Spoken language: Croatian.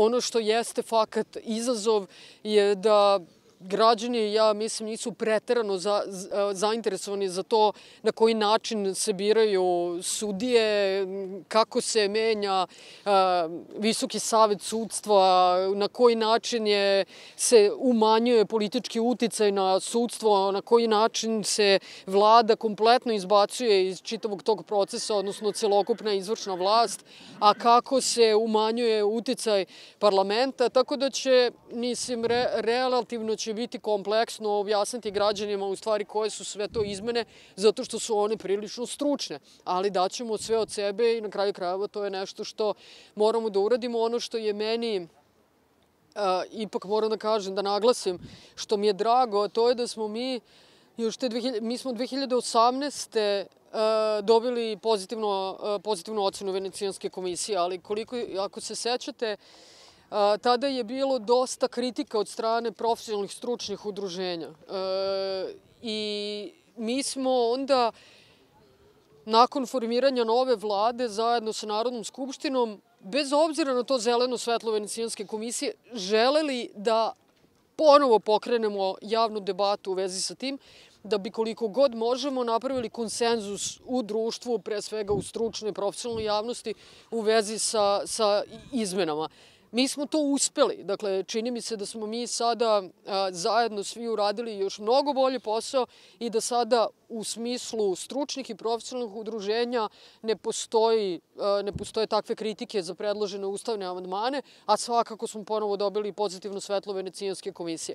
ono što jeste fakat izazov je da građani, ja mislim, nisu preterano zainteresovani za to na koji način se biraju sudije, kako se menja Visoki savet sudstva, na koji način se umanjuje politički uticaj na sudstvo, na koji način se vlada kompletno izbacuje iz čitavog tog procesa, odnosno celokupna izvršna vlast, a kako se umanjuje uticaj parlamenta, tako da će, mislim, relativno će biti kompleksno objasniti građanima u stvari koje su sve to izmene, zato što su one prilično stručne, ali daćemo sve od sebe i na kraju krajeva to je nešto što moramo da uradimo. Ono što je meni, ipak moram da kažem, da naglasim, što mi je drago, to je da smo mi smo 2018. Dobili pozitivnu ocenu Venecijanske komisije, ali ako se sećate, tada je bilo dosta kritika od strane profesionalnih stručnih udruženja. I mi smo onda, nakon formiranja nove vlade, zajedno sa Narodnom skupštinom, bez obzira na to zeleno svetlo Venecijanske komisije, želeli da ponovo pokrenemo javnu debatu u vezi sa tim, da bi koliko god možemo napravili konsenzus u društvu, pre svega u stručnoj i profesionalnoj javnosti, u vezi sa izmenama. Mi smo to uspeli. Dakle, čini mi se da smo mi sada zajedno svi uradili još mnogo bolji posao i da sada u smislu stručnih i profesionalnih udruženja ne postoje takve kritike za predložene ustavne amandmane, a svakako smo ponovo dobili pozitivno svetlo Venecijanske komisije.